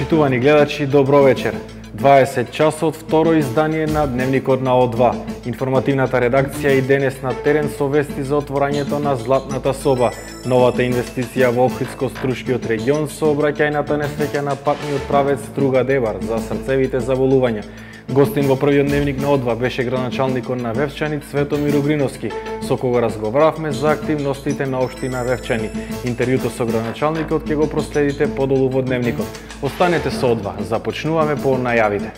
Почитувани гледачи, добро вечер. 20 часот, второ издание на Дневникот на О2. Информативната редакција и денес на терен со вести за отворањето на Златната соба, новата инвестиција во Охридско-Струшкиот регион со обраќајната несреќа на патниот правец Струга Дебар за срцевите заболувања. Гостин во првиот Дневник на О2 беше градоначалникот на Вевчани Цветомир Угриновски, со кого разговаравме за активностите на општина Вевчани. Интервјуто со градоначалникот ќе го проследите подолу во Дневникот. Останете со О2, започнуваме по најавите.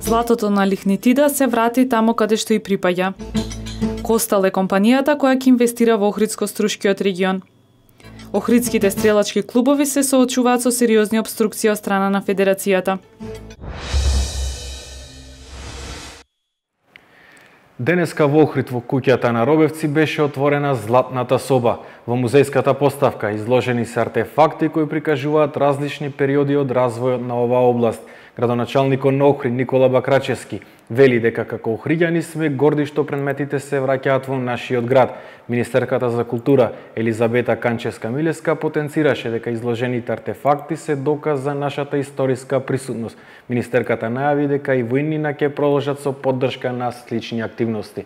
Златото на лигнитида се врати таму каде што и припаѓа. Костал е компанијата која ќе инвестира во Охридско-Струшкиот регион. Охридските стрелачки клубови се соочуваат со сериозни обструкции од страна на Федерацијата. Денеска во Охрид во куќата на Робевци беше отворена Златната соба. Во музејската поставка изложени се артефакти кои прикажуваат различни периоди од развојот на оваа област. Градоначалникот на Охрид Никола Бакрачевски вели дека како охриѓани сме горди што предметите се враќаат во нашиот град. Министерката за култура Елизабета Канческа-Милеска потенцираше дека изложените артефакти се доказ за нашата историска присутност. Министерката најави дека и во иднина ќе продолжат со поддршка на слични активности.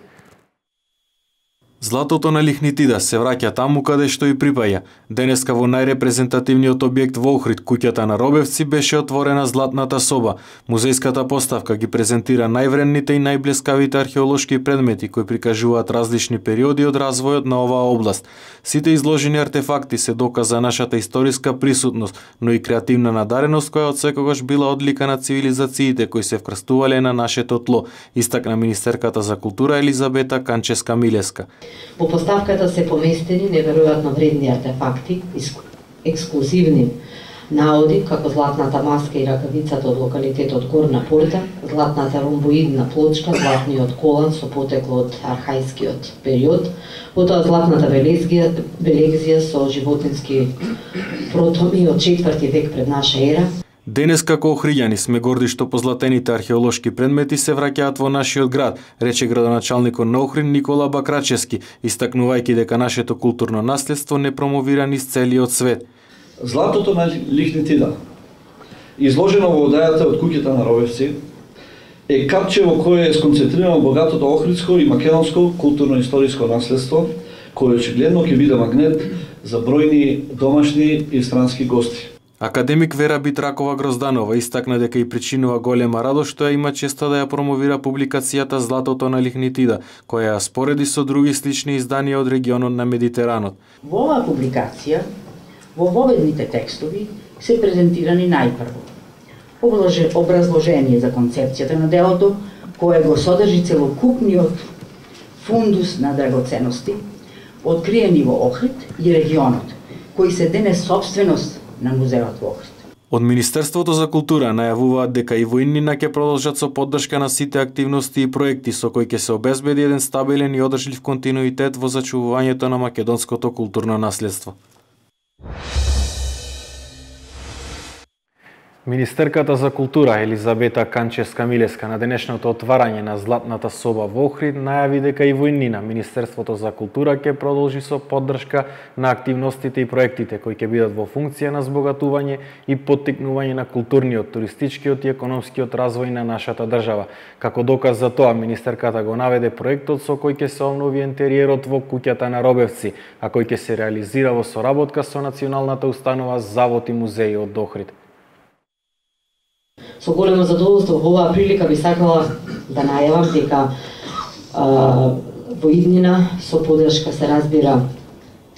Златото на лигнитида се враќа таму каде што и припаѓа. Денеска во најрепрезентативниот објект во Охрид, куќата на Робевци, беше отворена Златната соба. Музејската поставка ги презентира највредните и најблескавите археолошки предмети кои прикажуваат различни периоди од развојот на оваа област. Сите изложени артефакти се доказ за нашата историска присутност, но и креативна надареност која од секогаш била одлика на цивилизациите кои се вкрстувале на нашето тло, истакна министерката за култура Елизабета Канческа-Милеска. Во поставката се поместени неверојатно вредни артефакти, ексклузивни наоди како златната маска и ракавицата од локалитетот Горна Порта, златната ромбоидна плочка, златниот колан со потекло од архајскиот период, потоа златната белегзија со животински протоми од 4 век пред наша ера. Денес како охриѓани сме горди што позлатените археолошки предмети се враќаат во нашиот град, рече градоначалникот на Охрид Никола Бакрачевски, истакнувајќи дека нашето културно наследство не промовира низ целиот свет. Златото на лигнитида, изложено во одајата од куќата на Робевци, е капче во кое е сконцентрирано богатото охридско и македонско културно-историско наследство, кој очигледно ќе биде магнет за бројни домашни и странски гости. Академик Вера Битракова Грозданова истакна дека и причинува голема радост што ја има честа да ја промовира публикацијата Златото на лигнитида, која ја спореди со други слични изданија од регионот на Медитеранот. Во оваа публикација, во воведните текстови се презентирани најпрво образложение за концепцијата на делото, кое го содржи целокупниот фундус на драгоценности, откриени во Охрид и регионот, кои се денес собственост на музеот во Охрид. Од Министерството за култура најавуваат дека и во иднина ќе продолжат со поддршка на сите активности и проекти со кои ќе се обезбеди еден стабилен и одржлив континуитет во зачувувањето на македонското културно наследство. Министерката за култура Елизабета Канческа-Милеска на денешното отварање на Златната соба во Охрид најави дека и во иднина Министерството за култура ќе продолжи со поддршка на активностите и проектите кои ќе бидат во функција на збогатување и поттикнување на културниот, туристичкиот и економскиот развој на нашата држава. Како доказ за тоа, министерката го наведе проектот со кој ќе се обнови интериерот во куќата на Робевци, а кој ќе се реализира во соработка со Националната установа Завод и музеи од Охрид. Со големо задоволство во оваа прилика би сакала да најавам дека во иднина со поддршка се разбира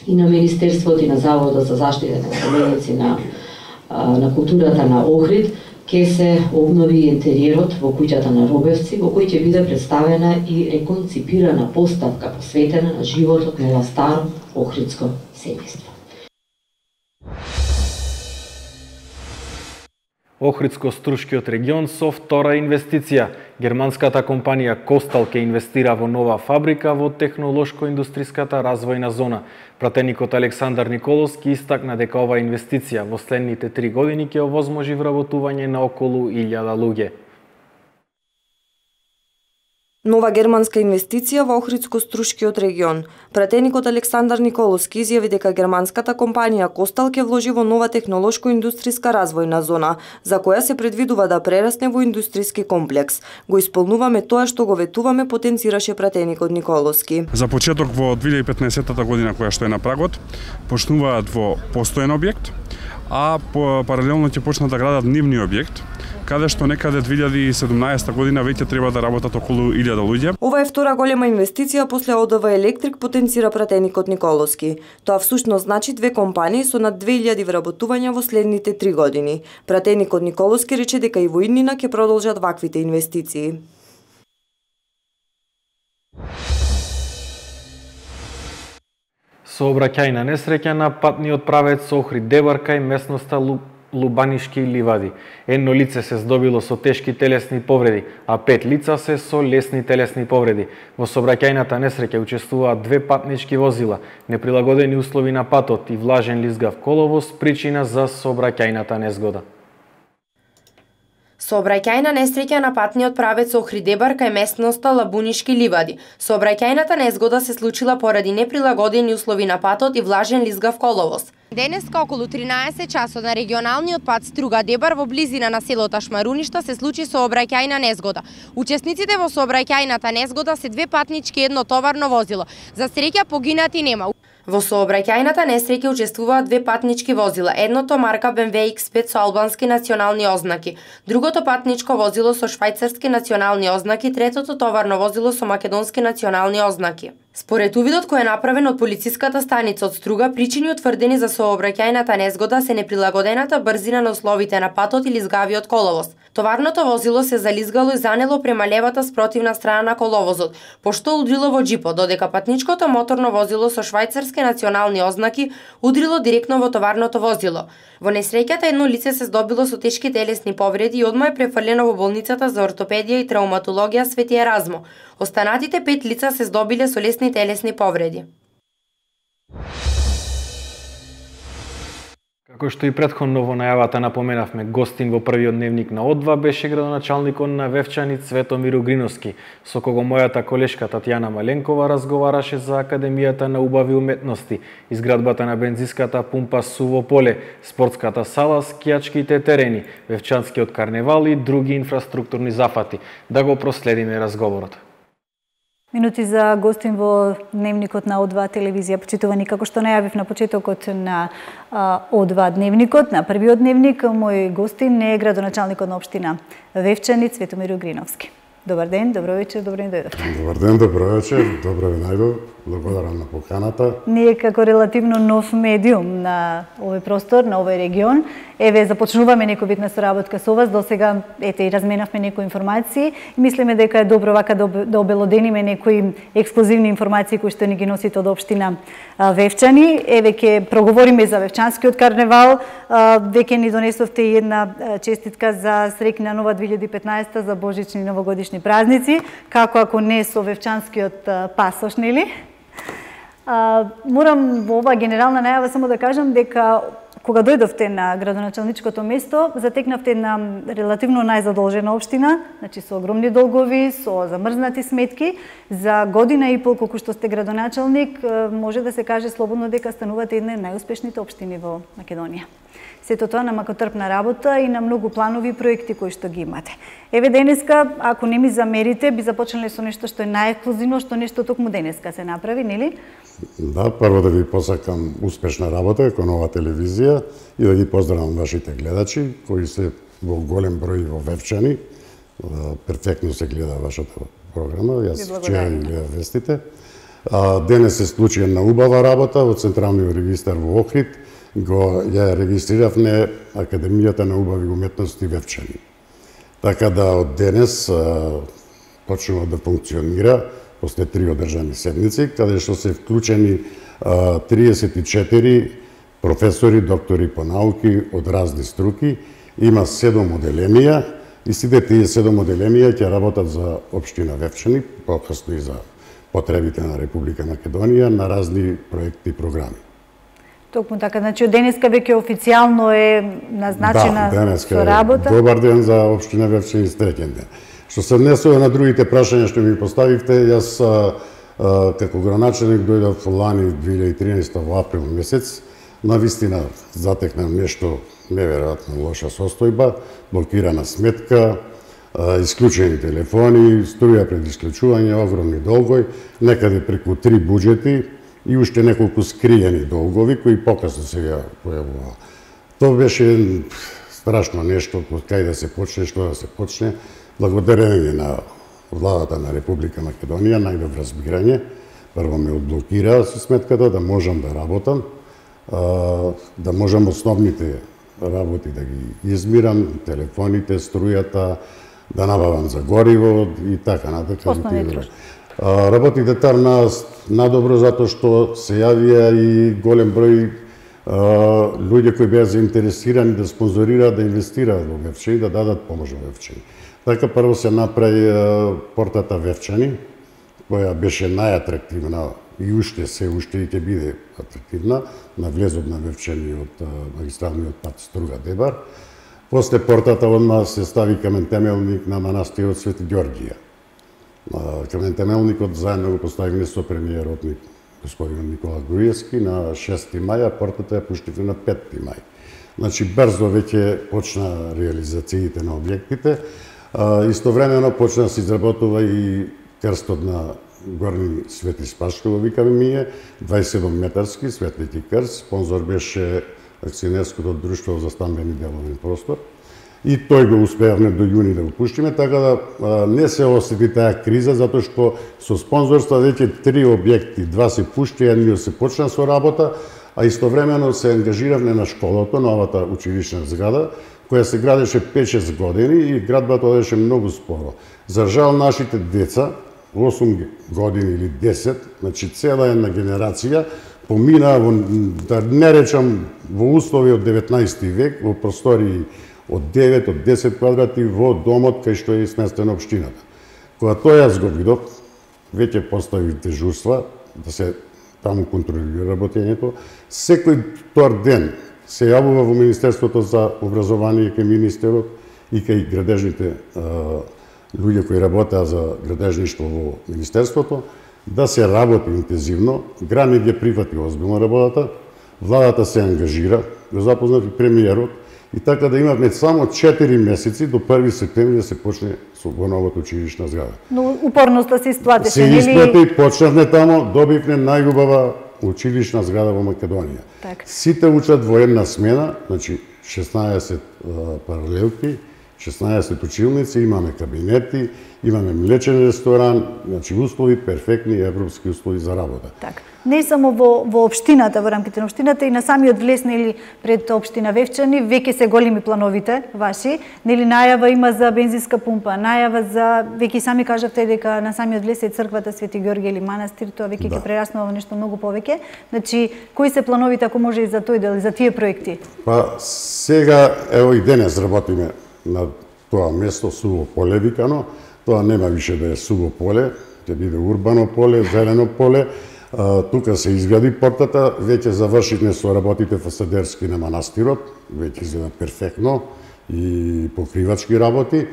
и на Министерството и на Заводот за заштита на споменици на културата на Охрид ќе се обнови интериерот во куќата на Робевци, во кој ќе биде представена и реконципирана поставка посветена на животот на ова старо охридско семејство. Охридско-Струшкиот регион со втора инвестиција. Германската компанија Костал ќе инвестира во нова фабрика во технолошко-индустриската развојна зона. Пратеникот Александар Николовски истакна дека оваа инвестиција во следните 3 години ќе овозможи вработување на околу 1000 луѓе. Нова германска инвестиција во Охридско-Струшкиот регион. Пратеникот Александар Николовски изјави дека германската компанија Костал ќе вложи во нова технолошко-индустријска развојна зона, за која се предвидува да прерасне во индустријски комплекс. Го исполнуваме тоа што го ветуваме, потенцираше пратеникот Николовски. За почеток во 2015 година, која што е на прагот, почнуваат во постојен објект, а паралелно ќе почнат да градат нивни објект, каде што некаде 2017 година веќе треба да работат околу 1000 луѓе. Ова е втора голема инвестиција после ОДВ Електрик, потенцира пратеникот Николовски. Тоа всушност значи две компании со над 2000 вработувања во следните 3 години. Пратеникот Николовски рече дека и во иднина ќе продолжат ваквите инвестиции. Сообраќајна несреќа на патниот правец Охрид-Дебар кај местноста Лубанишки ливади. Едно лице се здобило со тешки телесни повреди, а 5 лица се со лесни телесни повреди. Во сообраќајната несреќа учествуваат 2 патнички возила, неприлагодени услови на патот и влажен лизгав коловоз причина за сообраќајната незгода. Сообраќајна несреќа на патниот правец Охрид-Дебар кај местноста Лабунишки ливади. Сообраќајната незгода се случила поради неприлагодени услови на патот и влажен лизгав коловоз. Денеска околу 13 часот на регионалниот пат Струга-Дебар во близина на селото Шмаруништа се случи сообраќајна незгода. Учесниците во сообраќајната незгода се 2 патнички и 1 товарно возило. За среќа погинати нема. Во сообраќајната несреќа учествуваат 2 патнички возила, едното марка BMW X5 со албански национални ознаки, другото патничко возило со швајцарски национални ознаки, третото товарно возило со македонски национални ознаки. Според увидот кој е направен од полициската станица од Струга, причини утврдени за сообраќајната незгода се неприлагодената брзина на условите на патот и лизгавиот коловоз. Товарното возило се зализгало и занело према левата спротивна страна на коловозот, пошто удрило во джипот, додека патничкото моторно возило со швајцарски национални ознаки удрило директно во товарното возило. Во несреќата едно лице се здобило со тешки телесни повреди и одма е префрлено во болницата за ортопедија и травматологија Свети Еразмо. Останатите 5 лица се здобиле со лесни телесни повреди. Како што и претходно во најавата напоменавме, гостин во првиот дневник на О2 беше градоначалникот на Вевчани Цветомир Угриновски, со кого мојата колешка Татјана Маленкова разговараше за Академијата на убави уметности, изградбата на бензиската пумпа Суво поле, спортската сала, скијачките терени, Вевчанскиот карневал и други инфраструктурни зафати. Да го проследиме разговорот. Минути за гостин во дневникот на О2 телевизија. Почитувани, како што најавив на почетокот на О2 дневникот, на првиот дневник, мој гостин е градоначалникот на општина Вевчани Цветомир Угриновски. Добар ден, добро вечер, добро ни дојдовте. Добар ден, добро вечер, добро ви најдов, благодарам на поканата. Ние како релативно нов медиум на овој простор, на овој регион, еве започнуваме некој вид на соработка со вас, до сега ете и разменавме некои информации и мислиме дека е добро вака да обелодениме некои ексклузивни информации кои што ни ги носите од општина Вевчани. Еве ќе проговориме за Вевчанскиот карневал, веќе ни донесовте и една честитка за среќна нова 2015 за божични и новогодишни празници, како ако не со Вевчанскиот пасош, нели? Морам во оваа генерална најава само да кажам дека кога дојдовте на градоначалничкото место, затекнавте една релативно најзадолжена општина, значи со огромни долгови, со замрзнати сметки. За година и пол колку што сте градоначалник, може да се каже слободно дека станувате една од најуспешните општини во Македонија. Сето тоа на макотрпна работа и на многу планови и проекти кои што ги имате. Еве денеска, ако не ми замерите, би започнале со нешто што е најексклузивно, што нешто токму денеска се направи, нели? Да, прво да ви посакам успешна работа кон ова телевизија и да ги поздравам вашите гледачи, кои се во голем број во Вевчани. Перфектно се гледа вашата програма, јас вчера ги гледав вестите. Денес се случи една убава работа во Централниот регистар во Охрид, ја регистрировне Академијата на убави уметности Вевчани. Така да од денес почнува да функционира после 3 одржани седмици, каде што се вклучени 34 професори, доктори по науки од разни струки. Има 7 оделенија и сите тие 7 оделенија ќе работат за општина Вевчани, покасно и за потребите на Република Македонија на разни проекти и програми. Токму така, значи од денеска веќе официјално е назначена со работа. Добар ден за општина Вевчани, среќен ден. Што се однесува на другите прашања што ми поставивте, јас како градоначелник дојдов лани 2013 во април месец, навистина затекнав нешто неверојатно лоша состојба, блокирана сметка, исклучени телефони, струја пред исклучување, огромни долгови, некаде преку 3 буџети и уште неколку скриени долгови кои покасно се појавува. Тоа беше страшно нешто, кај да се почне, што да се почне. Благодарение на владата на Република Македонија, најдов разбирање, прво ме одблокираа со сметката да можам да работам, да можам основните работи да ги измирам, телефоните, струјата, да набавам за гориво и така натаму. Работите там надобро затоа што се јавија и голем број луѓе кои беа заинтересирани да спонзорираат, да инвестираат во Вевчани, да дадат помош во Вевчани. Така прво се направи портата Вевчани, која беше најатрактивна и уште и ќе биде атрактивна на влезот на Вевчани од магистралниот пат Струга-Дебар. После портата одма се стави камен темелник на манастирот Свети Ѓорѓија. Камен темелникот заедно го поставивме со премиерот господин Никола Груевски на 6 мај, а портата ја пуштивме на 5 мај. Значи брзо веќе почна реализациите на објектите. Истовремено почна да се изработува и крстот на Горни Свети Спашко, викаме ние, 27 метарски светлики крст. Спонзор беше акционерското друштво за стамбени деловен простор. И тој го успеавме до јуни да го пуштиме, така да не се осети таа криза, затоа што со спонзорства веќе 3 објекти, 2 се пушти, едниот се почна со работа, а истовремено се ангажиравме на школото, новата училишна зграда, која се градеше 5-6 години и градбата одеше многу споро. За жал нашите деца, 8 години или 10, значи цела една генерација, помина во, да не речам, во услови од 19 век, во простории од 9, од 10 квадрати во домот кај што е сместена општината. Кога тоа јас го видов, веќе постави дежурства, да се таму контролира работењето. Секој тор ден се јавува во Министерството за образование кај министерот и кај градежните луѓе кои работеа за градежништво во Министерството, да се работи интензивно. Грани ги прифати озбилно работата, владата се ангажира, го запознав и премиерот, и така да имавме само 4 месеци до 1 септември да се почне со новата училишна зграда. Но упорноста се исплатеше, се исплати, почнавме тамо, добивме најубава училишна зграда во Македонија. Так. Сите учат во една смена, значи 16 паралелки, 16 училници, имаме кабинети, имаме млечен ресторан, значи услови перфектни европски услови за работа. Так. Не само во општината, во рамките на општината, и на самиот влез, нели, пред општина Вевчани, веќе се големи плановите ваши, нели, најава има за бензинска пумпа, најава за, веќе сами кажавте дека на самиот влез е црквата Свети Ѓорѓе или манастир, тоа веќе ќе прераснува во нешто многу повеќе. Значи, кои се плановите, ако може и за тој дел, за тие проекти? Па сега, ево и денес работиме на тоа место, суво поле викано. Тоа нема више да е суво поле, ќе биде урбано поле, зелено поле. Тука се изгради портата, веќе завршивме со работите фасадерски на манастирот, веќе изгледа перфектно и покривачки работи.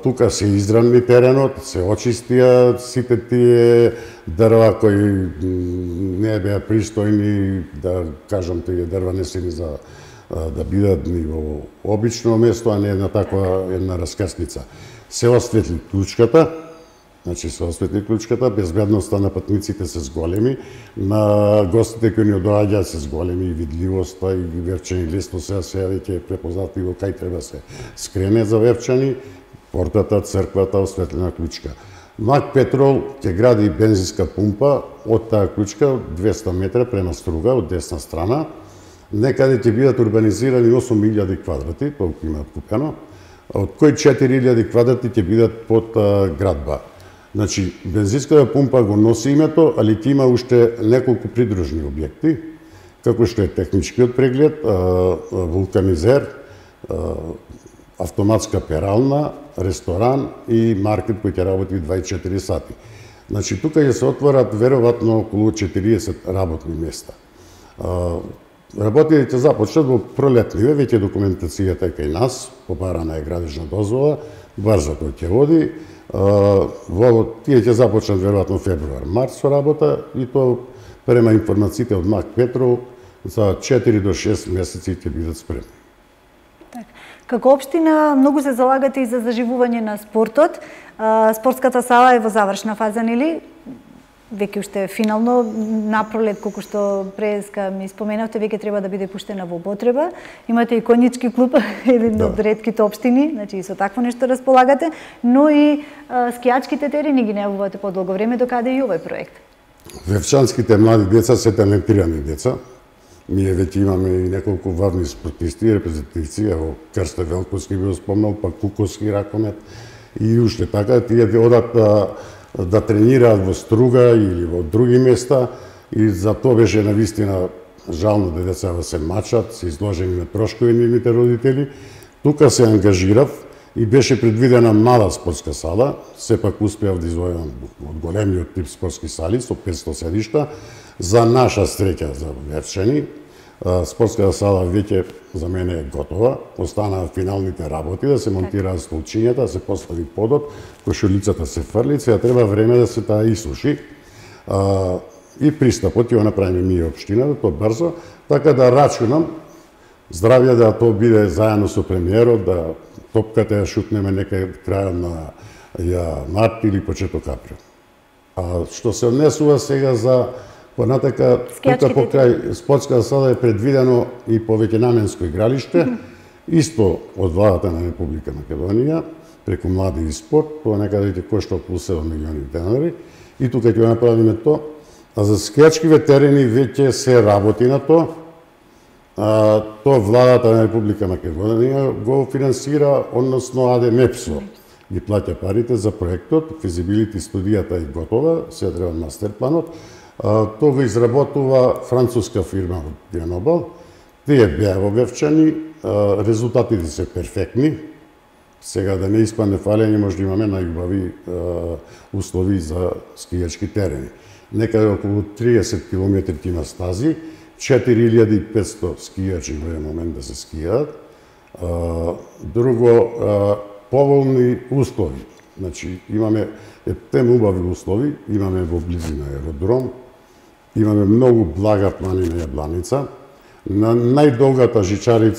Тука се изравни теренот, се очистија сите тие дрва кои не беа пристојни, да кажам, тие дрва не се ни за да бидат ни во обично место, а не на таква една раскрсница. Се осветли клучката, значи се осветли клучката, безбедноста на патниците се зголеми, на гостите кои ни доаѓаат се зголеми и видливоста и Вевчани лесно се веќе препознатливо кај треба се скрене за Вевчани, портата, црквата, осветлена клучка. Мак Петрол ќе гради бензинска пумпа од таа клучка 200 метра према Струга од десна страна. Некаде ќе бидат урбанизирани 8000 квадрати, толку имаат купено, од кои 4000 квадрати ќе бидат под градба. Значи, бензинската пумпа го носи името, али ќе има уште неколку придружни објекти, како што е техничкиот преглед, вулканизер, автоматска перална, ресторан и маркет кој ќе работи 24 сати. Значи, тука ќе се отворат веројатно околу 40 работни места. Работите ќе започнат во пролетливе, веќе документацијата е кај нас, побарана е градежна дозвола, Барзо тој ќе води. Тие ќе започнат веројатно февруар-март со работа и тоа према информациите од Мак Петров за 4 до 6 месеци ќе бидат спремни. Како општина многу се залагате и за заживување на спортот. Спортската сала е во завршна фаза, нели? Веќе уште финално напролет, колку што преска ми споменавте, веќе треба да биде пуштена во употреба. Имате и конјички клуб, еден од ретките општини, значи и со такво нешто располагате, но и скијачките терени ги најавувате по долго време, докаде и овој проект. Вевчанските млади деца се талентирани деца. Ние веќе имаме и неколку важни спортисти, репрезентативци, ево Крсто Велковски би спомнал, па Куковски ракомет и уште така, тие одат да тренираат во Струга или во други места и за тоа беше навистина жално да децата се мачат, се изложени на трошкови нивните родители. Тука се ангажирав и беше предвидена мала спортска сала, сепак успеав да извојам од големиот тип спортски сали со 500 седишта. За наша среќа за Вевчани, спортската сала веќе за мене е готова. Останаа финалните работи, да се монтираат столчињата, да се постави подот, кошулицата се фрли, сега треба време да се таа исуши. И пристапот ќе го направиме ние општината, тоа брзо, така да рачунам здравје да тоа биде заедно со премиерот, да топката ја шутнеме некај крајот на март или почеток април. Што се однесува сега за понатака, тука покрај спортската сала е предвидено и повеќе наменско игралиште, исто од владата на Република Македонија, преку Млади и спорт, тоа некаде ќе кошта околу 7 милиони денари, и тука ќе го направиме тоа. А за скијачкиве терени веќе се работи на тоа. Тоа владата на Република Македонија го финансира, односно АДМЕПСО ги плаќа парите за проектот, физибилити студијата е готова, се треба мастерпланот. Тоа го изработува француска фирма од Гренобал. Тие беа во Вевчани, резултатите се перфектни. Сега да не испадне фалење, може да имаме најубави услови за скијачки терени. Некаде околу 30 км има стази, 4500 скијачи во еден момент да се скијаат. Друго, поволни услови. Значи, имаме тем убави услови, имаме во близина аеродром, имаме многу блага планина Јабланица. На најдолгата жичара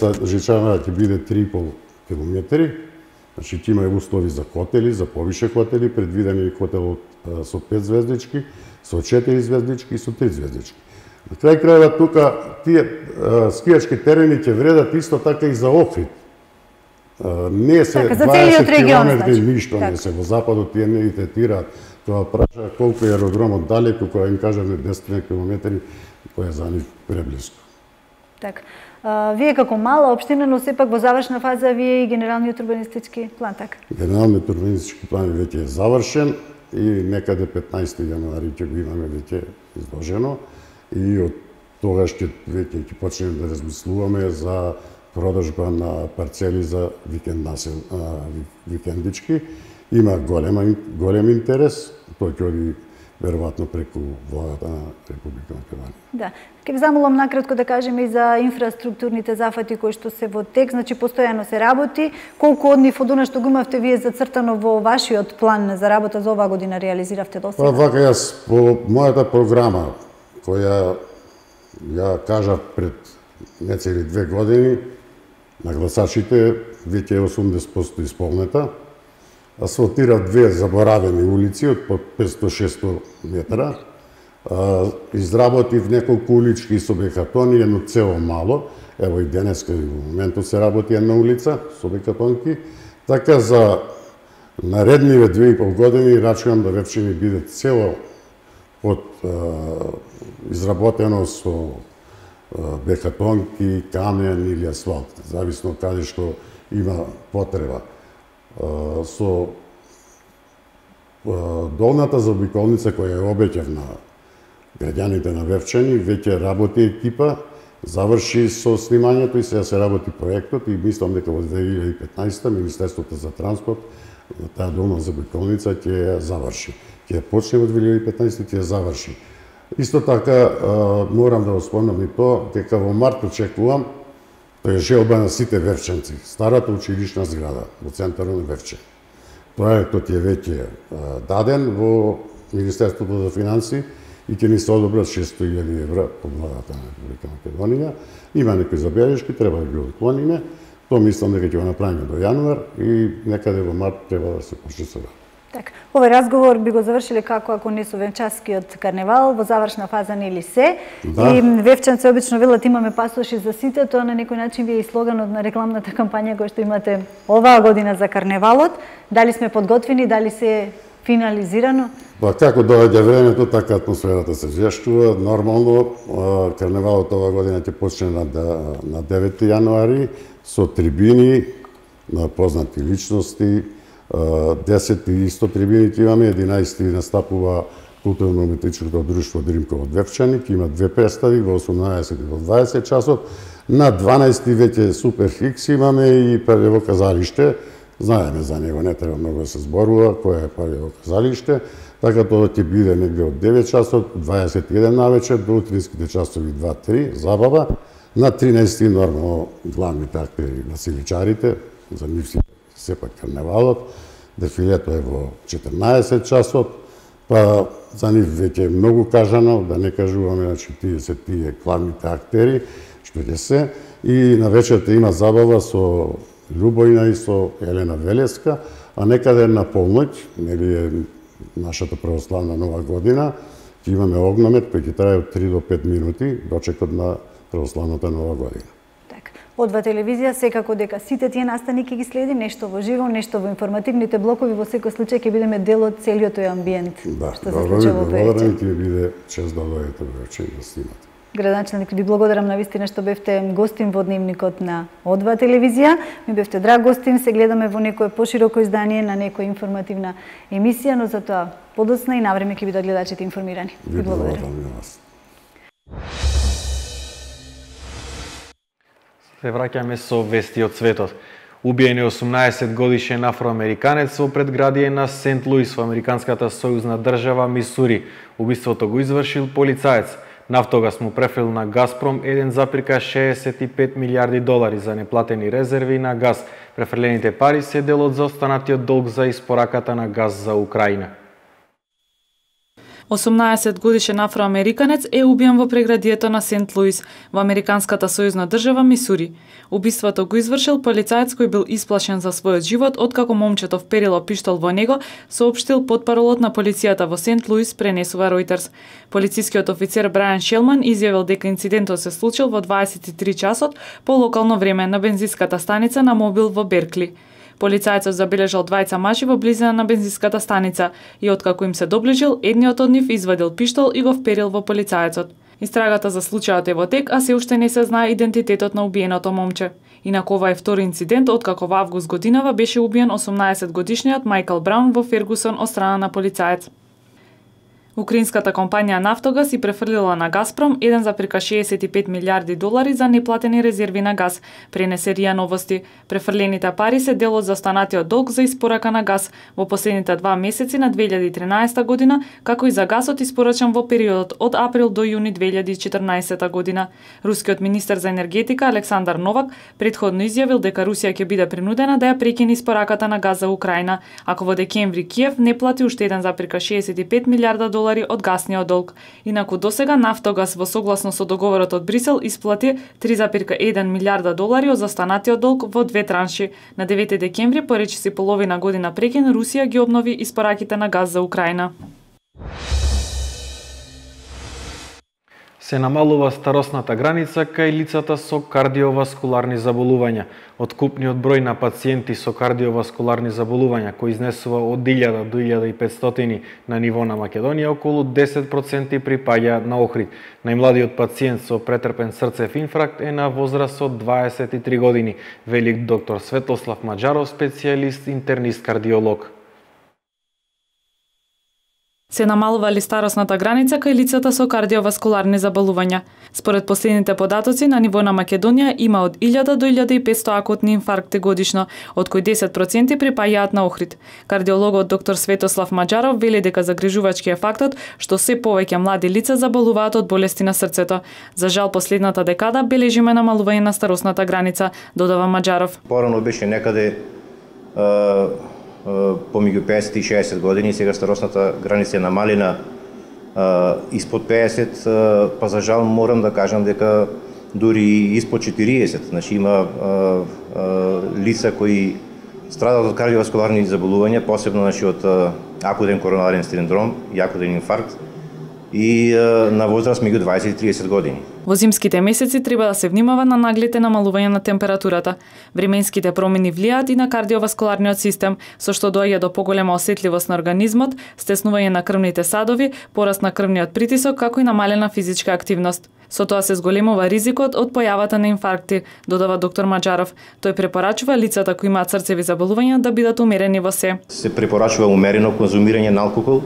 ќе биде 3,5 км. Значи, ќе има услови за хотели, за повише хотели, предвидени хотел со 5 звездички, со 4 звездички и со 3 звездички. На крај крајва тука тие скијачки терени ќе вредат исто така и за Охрид. Не се 20 км ништо не се во западот, тие не ги третираат. Тоа праша колку е аеродромот далеку, кога им кажаме 10 км, кој е за нив преблиско. Така. Вие како мала општина, но сепак во завршна фаза вие и генералниот урбанистички план, така? Генералниот урбанистички план веќе е завршен и некаде 15 јануари ќе го имаме веќе изложено и од тогаш веќе ќе почнеме да размислуваме за продажба на парцели за викендички. Има голем интерес, тој ќе оди веројатно преку владата на Република Македонија. Да. Ке ви замолам накратко да кажеме и за инфраструктурните зафати кои што се во тек, значи постојано се работи. Колку од нив од она што го имавте вие зацртано во вашиот план за работа за оваа година реализиравте до сега? Вака јас по мојата програма која ја кажав пред нецели 2 години на гласачите, веќе е 80% исполнета. Асфалтирав 2 заборавени улици од по 500-600 метра. Изработив неколку улички со бекатони, едно цело мало. Ево и денеска и во моментот се работи една улица со бекатонки. Така за наредниве 2,5 години рачувам да Вевчани биде цело изработено со бекатонки, камен или асфалт, зависно каде што има потреба. Со долната заобиколница која ја обеќав на граѓаните на Вевчани, веќе работи екипа, заврши со снимањето и сега се работи проектот и мислам дека во 2015 Министерството за транспорт таа долна заобиколница ќе ја заврши. Ќе почне во 2015 ќе ја заврши. Исто така морам да го спомнам и тоа дека во март очекувам, тоа е желба на сите вевчанци, старата училишна зграда во центарот на Вевчани. Проектот е веќе даден во Министерството за финансии и ќе ни се одобрат 600.000 евра по владата на Република Македонија. Има некои забелешки, треба да ги отклониме. Тоа мислам дека ќе го направиме до јануар и некаде во март треба да се почне со работа. Така, овој разговор би го завршиле како ако не со венчанскиот карневал, во завршна фаза нели се. Да. И вевчанци обично велат имаме пасоши за сите, тоа на некој начин ви е и слоганот на рекламната кампања која што имате оваа година за карневалот. Дали сме подготвени, дали се финализирано? Па како доаѓа времето, така атмосферата се зјаштува. Нормално, карневалот оваа година ќе почне на 9 јануари со трибини на познати личности. 10 и 100 трибини имаме, 11 настапува културно-уметничкото друштво Дримково Девчани, ќе има две представи во 18 и во 20 часот. На 12 веќе Супер Хикс имаме и Павлево казалиште. Знаеме за него, не треба многу да се зборува, кој е Павлево казалиште. Така тоа ќе биде негде од 9 часот, 21 навечер, до утринските часови 2-3, забава. На 13 нормално главните актери на силичарите, за нив си сепак карневалот. Дефилето е во 14 часот, па за нив веќе е многу кажано, да не кажуваме, значи тие се тие главните актери, што ќе се. И на вечерта има забава со Љубојна и со Елена Велеска, а некаде на полноќ, нели е нашата православна нова година, ќе имаме огномет кој ќе трае од 3 до 5 минути, дочекот на православната нова година. Одва телевизија секако дека сите тие настани ќе ги следи, нешто во живо, нешто во информативните блокови, во секој случај ќе бидеме дел од целиот тој амбиент. Да, добро ви благодарам, ќе биде чест да дојдете вовечер да снимате. Градоначелник, ви благодарам навистина што бевте гостин во дневникот на Одва телевизија. Ми бевте драг гостин, се гледаме во некое пошироко издание на некоја информативна емисија, но за тоа подоцна и навреме ќе бидат гледачите информирани. Ви благодарам и вас. Се враќаме со вести од светот. Убиен е 18 годишен афроамериканец во предградие на Сент Луис во американската сојузна држава Мисури. Убиството го извршил полицаец. Нафтогас му префрил на Газпром 1,65 милиарди долари за неплатени резерви на газ. Префрлените пари се дел од заостанатиот долг за испораката на газ за Украина. 18 годишен афроамериканец е убиен во преградието на Сент Луис, во американската сојузна држава Мисури. Убиството го извршил полицаец кој бил исплашен за својот живот откако момчето вперило пиштол во него, соопштил потпаролот на полицијата во Сент Луис, пренесува Ројтерс. Полицискиот офицер Брајан Шелман изјавил дека инцидентот се случил во 23 часот по локално време на бензинската станица на Мобил во Беркли. Полицајецот забележал двајца мажи во близина на бензинската станица и откако им се доближил, едниот од нив извадил пиштол и го вперил во полицајецот. Истрагата за случајот е во тек, а се уште не се знае идентитетот на убиеното момче. Инаку ова е втори инцидент откако во август годинава беше убиен 18 годишниот Майкл Браун во Фергусон од страна на полицаец. Украинската компанија Нафтогас и префрлила на Газпром 1,65 милиарди долари за неплатени резерви на газ, пренесе РИА Новости. Префрлените пари се дел од заостанатиот долг за испорака на газ во последните 2 месеци на 2013 година, како и за газот испорачан во периодот од април до јуни 2014 година. Рускиот министер за енергетика Александар Новак претходно изјавил дека Русија ќе биде принудена да ја прекине испораката на газ за Украина, ако во декември Киев не плати уште 1,65 милиарда долари од гасниот долг. Инаку досега Нафтогас во согласно со договорот од Брисел исплати 3,1 милиарда долари од застанатиот долг во 2 транши. На 9 декември, поречиси половина година прекин, Русија ги обнови испораките на газ за Украина. Се намалува старосната граница кај лицата со кардиоваскуларни заболувања. Откупниот број на пациенти со кардиоваскуларни заболувања, кој изнесува од 1000 до 1500 на ниво на Македонија, околу 10% припаѓа на Охрид. Најмладиот пациент со претрпен срцев инфаркт е на возраст од 23 години, вели доктор Светослав Маџаров, специјалист интернист кардиолог. Се намалува ли старосната граница кај лицата со кардиоваскуларни заболувања? Според последните податоци, на ниво на Македонија има од 1000 до 1500 акутни инфаркти годишно, од кои 10% припаѓаат на Охрид. Кардиологот доктор Светослав Маџаров вели дека загрижувачки е фактот што се повеќе млади лица заболуваат од болести на срцето. За жал, последната декада бележиме намалување на старосната граница, додава Маџаров. Порано беше некаде помеѓу 50 и 60 години, сега старосната граница е намалена испод 50, па за жал морам да кажам дека дури испод 40. Значи има лица кои страдат од кардиоваскуларни заболувања, посебно од акутен коронарен синдром и акутен инфаркт, и на возраст меѓу 20 и 30 години. Во зимските месеци треба да се внимава на наглите намалување на температурата. Временските промени влијаат и на кардиоваскуларниот систем, со што доаѓа до поголема осетливост на организмот, стеснување на крвните садови, пораст на крвниот притисок, како и намалена физичка активност. Со тоа се зголемува ризикот од појавата на инфаркти, додава доктор Маџаров. Тој препорачува лицата кои имаат срцеви заболувања да бидат умерени во се. Се препорачува умерено конзумирање на алкохол,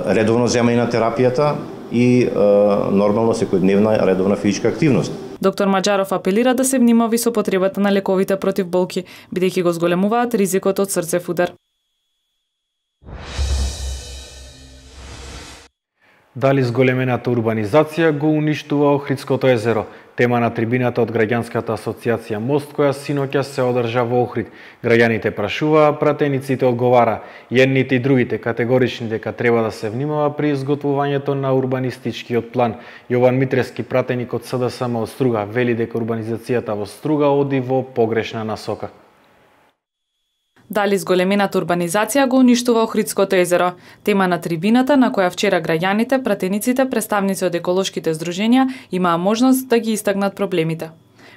редовно земање на терапијата и нормално секојдневна редовна физичка активност. Доктор Маџаров апелира да се внимави со потребата на лековите против болки, бидејќи го зголемуваат ризикот од срцев удар. Дали зголемената урбанизација го уништува Охридското езеро? Тема на трибината од Граѓанската асоциација Мост, која синоќа се одржа во Охрид. Граѓаните прашуваа, пратениците одговара. Едните и другите категорични дека треба да се внимава при изготвувањето на урбанистичкиот план. Јован Митрески, пратеник од СДСМ од Струга, вели дека урбанизацијата во Струга оди во погрешна насока. Дали зголемената урбанизација го уништува Охридското езеро? Тема на трибината на која вчера граѓаните, пратениците, представници од еколошките здруженија имаа можност да ги истакнат проблемите.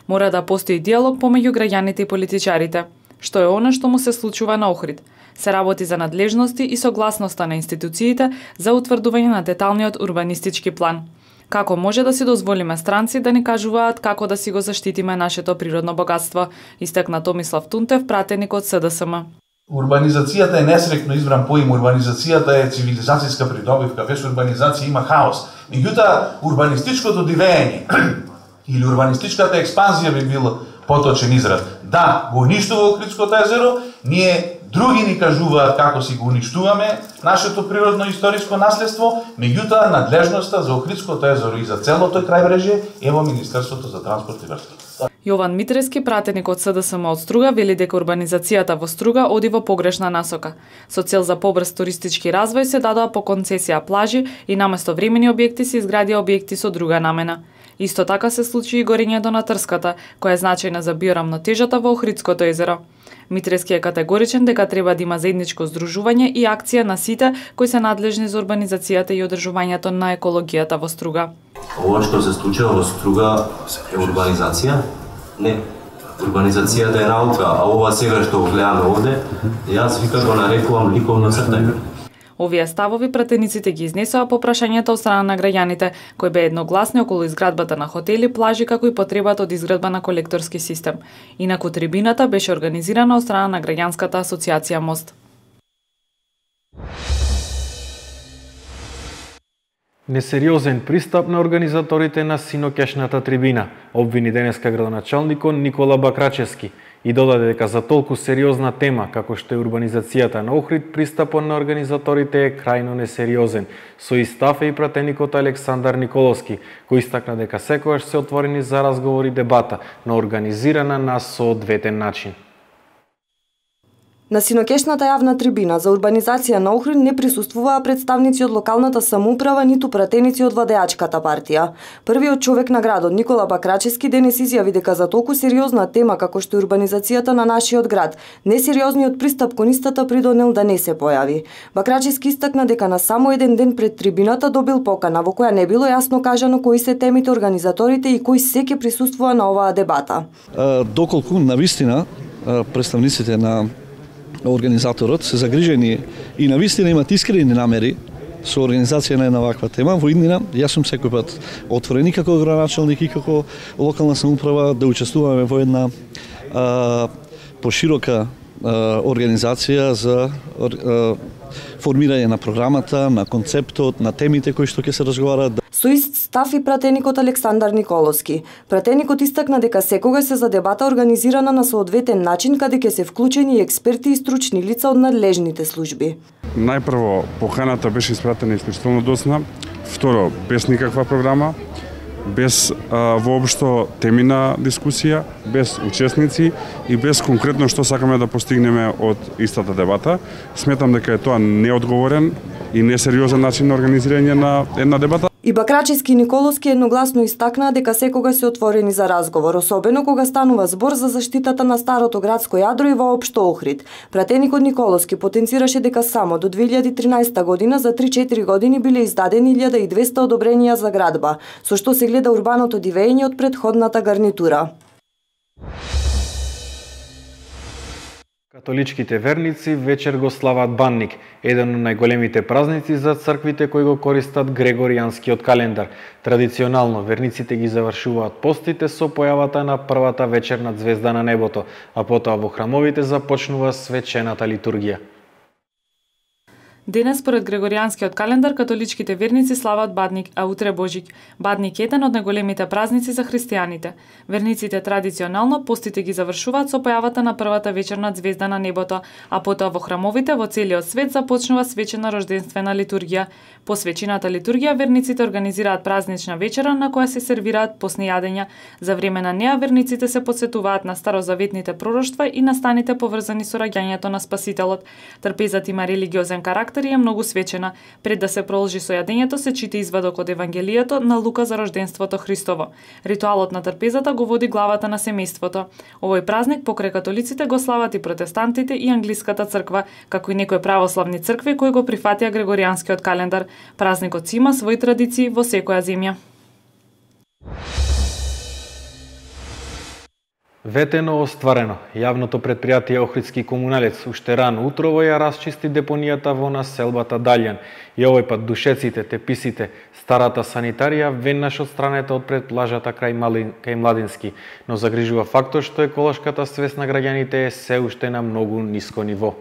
Мора да постои диалог помеѓу граѓаните и политичарите. Што е она што му се случува на Охрид? Се работи за надлежности и согласноста на институциите за утврдување на деталниот урбанистички план. Како може да си дозволиме странци да ни кажуваат како да си го заштитиме нашето природно богатство, истакна Томислав Тунтев, пратеник од СДСМ. Урбанизацијата е несрекно избран поим, урбанизацијата е цивилизацијска придобивка, без урбанизација има хаос. Меѓутоа, урбанистичкото дивење или урбанистичката експанзија би бил поточен израз. Да, го уништува Охридското езеро, ние други ни кажуваат како си го уништуваме нашето природно историско наследство, меѓутоа надлежноста за Охридското езеро и за целото крајбрежје е во Министерството за транспорт и врски. Јован Митрески, пратеник од СДСМ од Струга, вели дека урбанизацијата во Струга оди во погрешна насока. Со цел за побрз туристички развој се дадоа по концесија плажи и наместо времени објекти се изградија објекти со друга намена. Исто така се случи и горењето на трската, која е значајна за биорамнотежата во Охридското езеро. Митрески е категоричен дека треба да има заедничко здружување и акција на сите кои се надлежни за урбанизацијата и одржувањето на екологијата во Струга. Ова што се случува во Струга е урбанизација? Не. Урбанизацијата е наука, а ова сега што го гледаме овде, јас вика го нарекувам ликовно цртање. Овие ставови пратениците ги изнесоа по прашањето од страна на граѓаните, кои беа едногласни околу изградбата на хотели, плажи, како и потребата од изградба на колекторски систем. Инаку трибината беше организирана од страна на Граѓанската асоциација Мост. Несериозен пристап на организаторите на синоќашната трибина, обвини денеска градоначалникот Никола Бакрачевски и додаде дека за толку сериозна тема како што е урбанизацијата на Охрид, пристапот на организаторите е крајно несериозен. Со истав е и пратеникот Александар Николовски, кој истакна дека секогаш се отворени за разговор и дебата, но организирана на соодветен начин. На синоќешната јавна трибина за урбанизација на Охрид не присуствуваа представници од локалната самоуправа ниту пратеници од владеачката партија. Првиот човек на градот, Никола Бакрачевски, денес изјави дека за толку сериозна тема како што е урбанизацијата на нашиот град, несериозниот пристап кон истата придонел да не се појави. Бакрачевски истакна дека на само еден ден пред трибината добил покана во која не било јасно кажано кои се темите, организаторите и кои се ќе присуствува на оваа дебата. Доколку навистина представниците на организаторот се загрижени и навистина имат искрени намери со организација на една ваква тема, во иднина јас сум секој пат отворен и како градоначалник и како локална самоуправа да учествуваме во една поширока организација за формирање на програмата, на концептот, на темите кои што ќе се разговараат. Со ист став и пратеникот Александар Николовски. Пратеникот истакна дека секогаш се за дебата организирана на соодветен начин, каде ќе се вклучени и експерти и стручни лица од надлежните служби. Најпрво, поканата беше испратена исклучително досна, второ, без никаква програма, без воопшто темина дискусија, без учесници и без конкретно што сакаме да постигнеме од истата дебата. Сметам дека е тоа неодговорен и несериозен начин на организирање на една дебата. И Бакрачевски и Николовски едногласно истакнаа дека секогаш се отворени за разговор, особено кога станува збор за заштитата на старото градско јадро и воопшто Охрид. Пратеникот Николовски потенцираше дека само до 2013 година за 3-4 години биле издадени 1200 одобренија за градба, со што се гледа урбаното дивење од претходната гарнитура. Католичките верници вечер го слават Банник, еден од најголемите празници за црквите кои го користат Грегоријанскиот календар. Традиционално верниците ги завршуваат постите со појавата на првата вечерна звезда на небото, а потоа во храмовите започнува свечената литургија. Денес, според Грегоријанскиот календар, католичките верници слават Бадник, а утре Божик. Бадник е еден од најголемите празници за христијаните. Верниците традиционално постите ги завршуваат со појавата на првата вечерна звезда на небото, а потоа во храмовите во целиот свет започнува свечена рожденствена литургија. По свечената литургија верниците организираат празнична вечера на која се сервираат постни јадења. За време на неа верниците се потсетуваат на старозаветните пророштва и настаните поврзани со раѓањето на Спасителот. Трпезата има религиозен карактер и е многу свечена. Пред да се продолжи со јадењето се чита извадок од Евангелието на Лука за рожденството Христово. Ритуалот на трпезата го води главата на семејството. Овој празник покрај католиците го слават и протестантите и англиската црква, како и некои православни цркви кои го прифатија Грегоријанскиот календар. Празникот си има своји традиции во секоја земја. Ветено остварено. Јавното претпријатие Охридски комуналец уште рано утрово ја расчисти депонијата во населбата Далјан. И овој пат душеците, теписите, старата санитарија веднаш отстранета од пред плажата кај Младински, но загрижува фактот што еколошката свест на граѓаните е се уште на многу ниско ниво.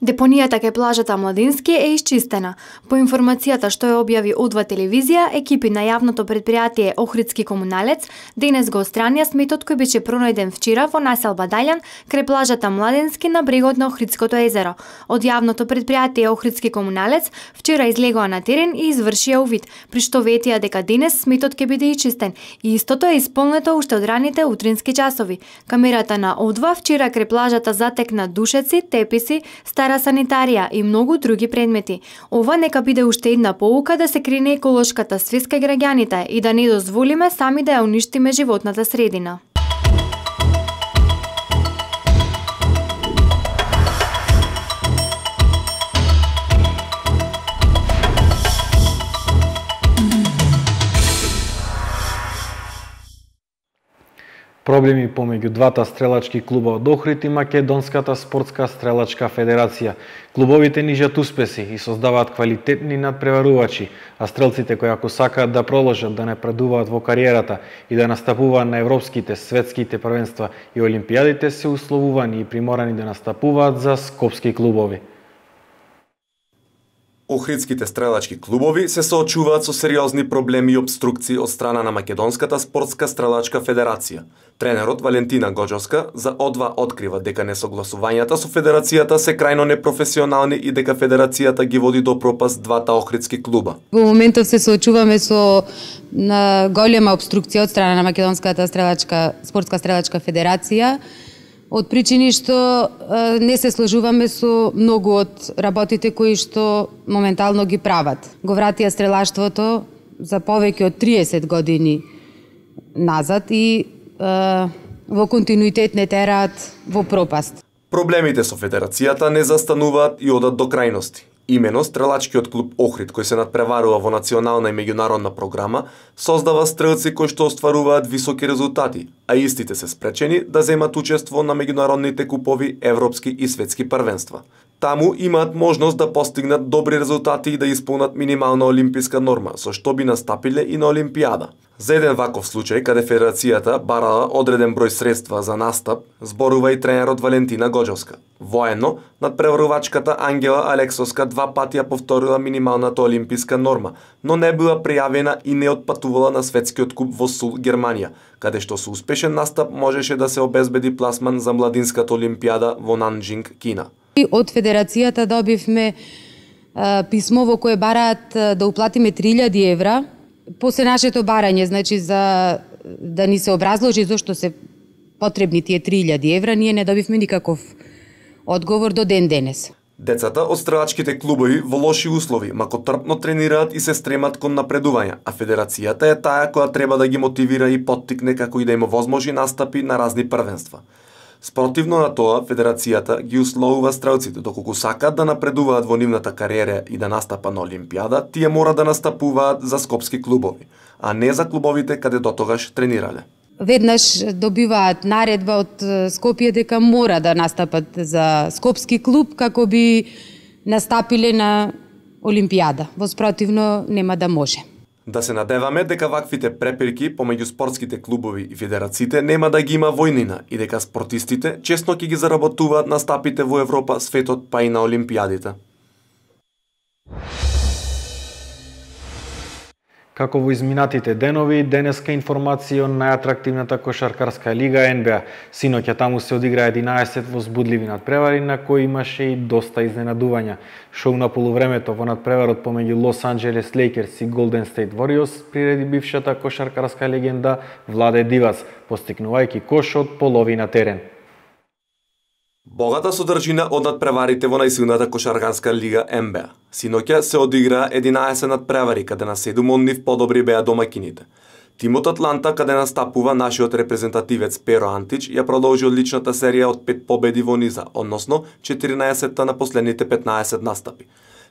Депонијата кај плажата Младински е исчистена. По информацијата што ја објави О2 телевизија, екипи на јавното претпријатие Охридски комуналец денес го отстранија сметот кој беше пронајден вчера во населба Далјан крај плажата Младински на брегот на Охридското езеро. Од јавното претпријатие Охридски комуналец вчера излегоа на терен и извршија увид, при што ветија дека денес сметот ќе биде исчистен и истото е исполнето уште од раните утрински часови. Камерата на О2 вчера крај плажата затекна душеци, теписи, стара санитарија и многу други предмети. Ова нека биде уште една поука да се крене еколошката свест кај граѓаните и да не дозволиме сами да ја уништиме животната средина. Проблеми помеѓу двата стрелачки клуба од Охрид и Македонската спортска стрелачка федерација. Клубовите нижат успеси и создаваат квалитетни надпреварувачи, а стрелците кои ако сакаат да продолжат да напредуваат во кариерата и да настапуваат на европските, светските првенства и олимпијадите се условувани и приморани да настапуваат за скопски клубови. Охридските стрелачки клубови се соочуваат со сериозни проблеми и обструкции од страна на Македонската спортска стрелачка федерација. Тренерот Валентина Гоџовска за О2 открива дека несогласувањата со федерацијата се крајно непрофесионални и дека федерацијата ги води до пропаст двата охридски клуба. Во моментов се соочуваме со голема обструкција од страна на Македонската спортска стрелачка федерација, од причини што не се сложуваме со многу од работите кои што моментално ги прават. Го вратија стрелаштвото за повеќе од 30 години назад и во континуитет не тераат во пропаст. Проблемите со федерацијата не застануваат и одат до крајности. Имено, стрелачкиот клуб Охрид, кој се надпреварува во национална и меѓународна програма, создава стрелци кои што остваруваат високи резултати, а истите се спречени да земат учество на меѓународните купови, европски и светски првенства. Таму имаат можност да постигнат добри резултати и да исполнат минимална олимписка норма, со што би настапиле и на Олимпијада. За еден ваков случај, каде федерацијата барала одреден број средства за настап, зборува и тренерот Валентина Гоџовска. Воено, надпреварувачката Ангела Алексовска 2 пати ја повторила минималната олимписка норма, но не била пријавена и не отпатувала на светскиот куп во Сул, Германија, каде што со успешен настап можеше да се обезбеди пласман за младинската олимпијада во Нанџинг, Кина. Од федерацијата добивме писмо во кое бараат да уплатиме 3000 евра после нашето барање, значи за да ни се образложи зошто се потребни тие 3000 евра, ние не добивме никаков одговор до ден денес. Децата од стрелачките клубови во лоши услови, мако трпно тренираат и се стремат кон напредување, а федерацијата е таа која треба да ги мотивира и поттикне како и да им овозможи настапи на разни првенства. Спротивно на тоа, федерацијата ги условува стрелците, доколку сакаат да напредуваат во нивната кариера и да настапа на Олимпијада, тие мора да настапуваат за скопски клубови, а не за клубовите каде дотогаш тренирале. Веднаш добиваат наредба од Скопје дека мора да настапат за скопски клуб како би настапиле на Олимпијада. Во спротивно нема да може. Да се надеваме дека ваквите препирки помеѓу спортските клубови и федерациите нема да ги има војнина и дека спортистите чесно ќе ги заработуваат настапите во Европа, светот па и на Олимпијадите. Како во изминатите денови, денеска информација од најатрактивната кошаркарска лига НБА. Синоќа таму се одигра 11 возбудливи надпревари на кои имаше и доста изненадувања. Шоу на полувремето во надпреварот помеѓу Лос Анџелес Лейкерс и Голден Стейт Вориорс приреди бившата кошаркарска легенда Владе Дивац, постигнувајќи кош од половина терен. Богата содржина од надпреварите во најсилната кошаркарска лига НБА. Синоќа се одигра 11 надпревари, каде на 7 од нив подобри беа домакините. Тимот Атланта, каде настапува нашиот репрезентативец Перо Антич, ја продолжи одличната серија од 5 победи во низа, односно 14 на последните 15 настапи.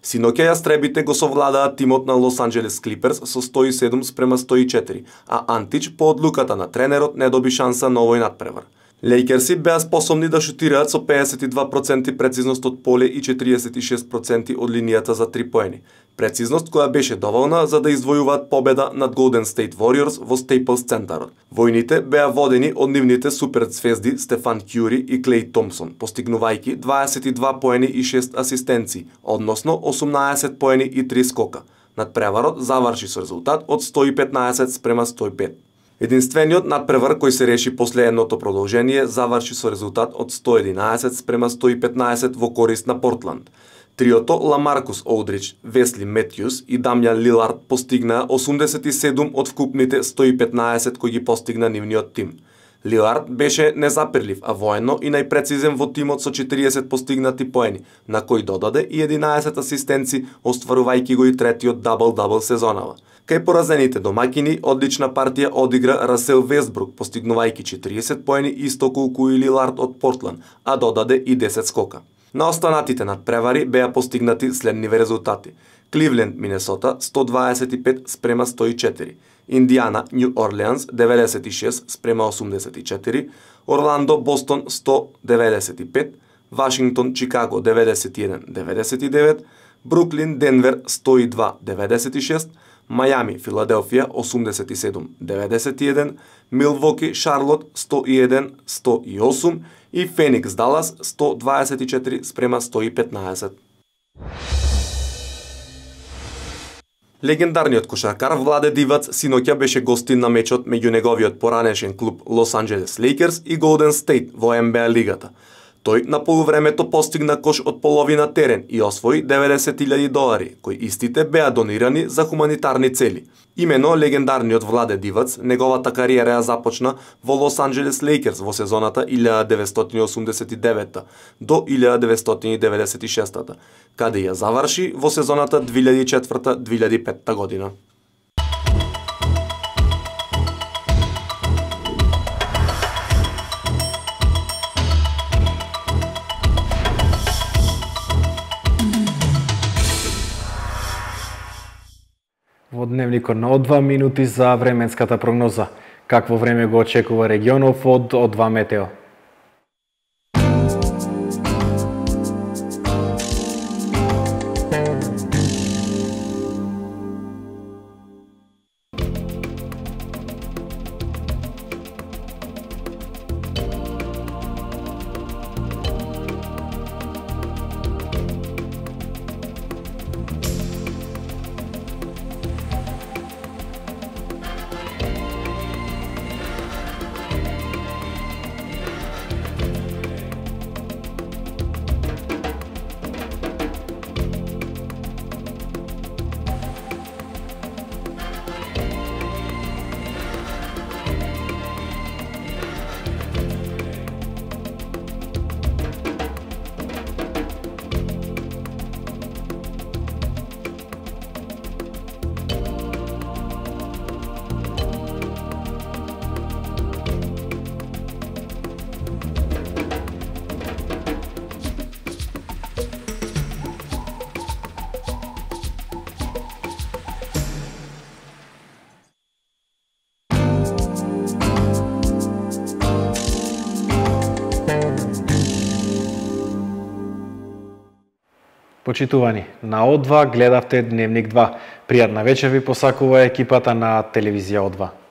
Синоќа јастребите го совладаат тимот на Лос Анџелес Клиперс со 107 спрема 104, а Антич по одлуката на тренерот не доби шанса на овој надпревар. Лейкерси беа способни да шутираат со 52% прецизност од поле и 46% од линијата за 3 поени. Прецизност која беше доволна за да издвојуваат победа над Golden State Warriors во Staples центарот. Војните беа водени од нивните суперзвезди Стефан Кјури и Клеј Томпсон, постигнувајќи 22 поени и 6 асистенции, односно 18 поени и 3 скока. Надпреварот заврши со резултат од 115 спрема 105. Единствениот надпревар кој се реши после едното продолжение заврши со резултат од 111 спрема 115 во корист на Портланд. Триото Ламаркус Олдрич, Весли Метјус и Дамјан Лилард постигнаа 87 од вкупните 115 кои ги постигна нивниот тим. Лилард беше незапирлив, а воено и најпрецизен во тимот со 40 постигнати поени, на кои додаде и 11 асистенци, остварувајќи го и третиот дабл-дабл сезонава. Кај поразените домакини, одлична партија одигра Расел Вестбрук, постигнувајќи 40 поени исто колку и Лилард од Портланд, а додаде и 10 скока. На останатите надпревари беа постигнати следниве резултати. Кливленд, Минесота 125 спрема 104, Индиана, Нью Орлеанс 96 спрема 84, Орландо, Бостон 195, Вашингтон, Чикаго 91-99, Бруклин, Денвер 102-96, Мајами, Филаделфија 87-91, Милвоки, Шарлот 101-108 и Феникс, Далас 124 спрема 115. Легендарниот кошаркар Владе Дивац синоќа беше гостин на мечот меѓу неговиот поранешен клуб Лос Анџелес Лейкерс и Голден Стейт во НБА лигата. Тој на полувремето постигна кош од половина терен и освои $90,000, кои истите беа донирани за хуманитарни цели. Имено легендарниот Владе Дивац, неговата кариера ја започна во Лос Анџелес Лейкерс во сезоната 1989 до 1996, каде ја заврши во сезоната 2004-2005 година. Во дневникот на од 2 минути за временската прогноза. Какво време го очекува регионов од 2 метео? Почитувани, на О2 гледавте Дневник 2. Пријатна вечер ви посакува екипата на Телевизија О2.